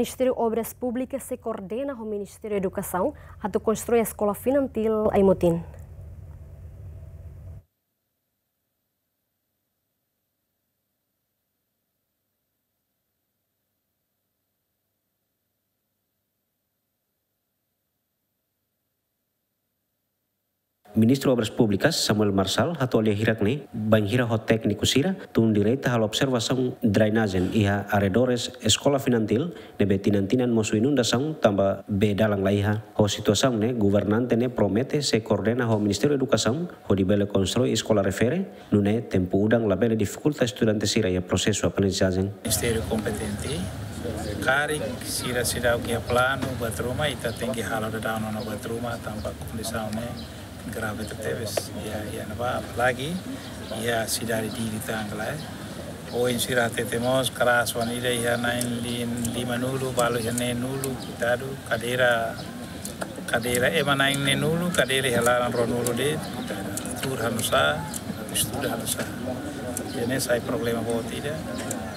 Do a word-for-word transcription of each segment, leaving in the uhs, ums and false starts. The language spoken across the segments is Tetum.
Ministériu Obras Públikas sei koordena ho Ministériu Edukasaun atu konstrui eskola infantil Aimutin. Ministru Obras Públikas, Samuel Marçal, hato'o lia hirak ne'e, bainhira ho tékniku sira tun direta halo observasaun drenajen iha arredores eskola infantil, ne'ebé tinan-tinan mosu inundasaun tanba bee dalan laiha. Ho situasaun ne'e, governante ne'e promete sei koordena ho Ministériu Edukasaun hodi bele konstrui eskola refere, nune'e tempu udan labele difikulta estudante sira iha prosesu aprendizajen. Ministériu kompetente, karik sira seidauk iha planu buat ruma, ita tenke halo daudaun ona buat ruma, tanba kondisaun ne'e grave tebetebes. Iha, iha ne'ebá, apalagi iha sidade Dili tan ka lae. Ohin sira hatete mós, kelas wan ida iha na'in li-, limanulu, balu iha neenulu, koitadu, kadeira, kadeira ema na'in neenulu, kadeira iha laran ruanulu de'it, koitadu. Tuur hanusá, estuda hanusá. Jadi ne'e sai problema boot ida,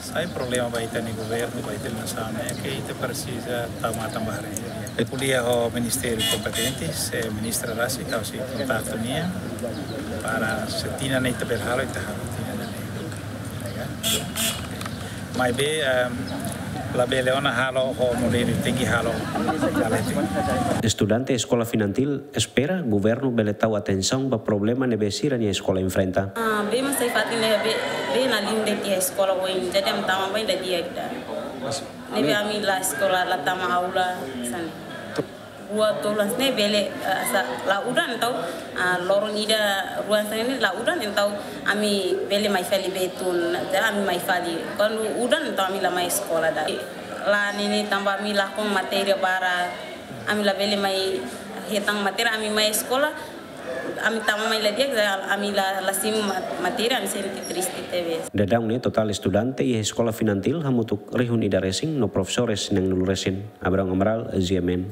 sai problema ba ita-nia governu, ba ita-nia nasaun ne'e, ke ita presiza tau matan ba haree. Ko'alia ho ministériu kompetente, se ministra rasik, ha'u sei kontaktu nia, para se tinan ne'e ita bele halo, ita halo tinan ne'e. Ya kan? Maibé, em, labele ona halo ho modelu tenke halo. Estudante eskola infantil espera governu bele tau atensaun ba problema ne'ebé sira-nia eskola enfrenta. Ah, bee mak sai fatin ne'e, bee, bee na'in-lima de'it iha eskola oin, jadi ami tama ba ida dia kita. Ne'ebé ami la eskola, la tama aula, hanesan ne'e. Buat tolu hanesan ne'e bele, eh, hanesan la udan entaun, ah, loron ida rua hanesan ne'e la udan entaun ami bele mai fali bee tun, jadi ami mai fali. Kuandu udan entaun ami la mai eskola ida. La ne'e ne'e tanba ami lakon matéria barak, ami labele mai hetan matéria, ami mai eskola, ami tama mai la di'ak, ami la, la simu ma-, matéria, ami sente triste tebes. Daudaun ne'e totál estudante iha eskola infantil hamutuk rihun ida resin no profesores na'in-nulu resin. Abraham Amaral, G M N.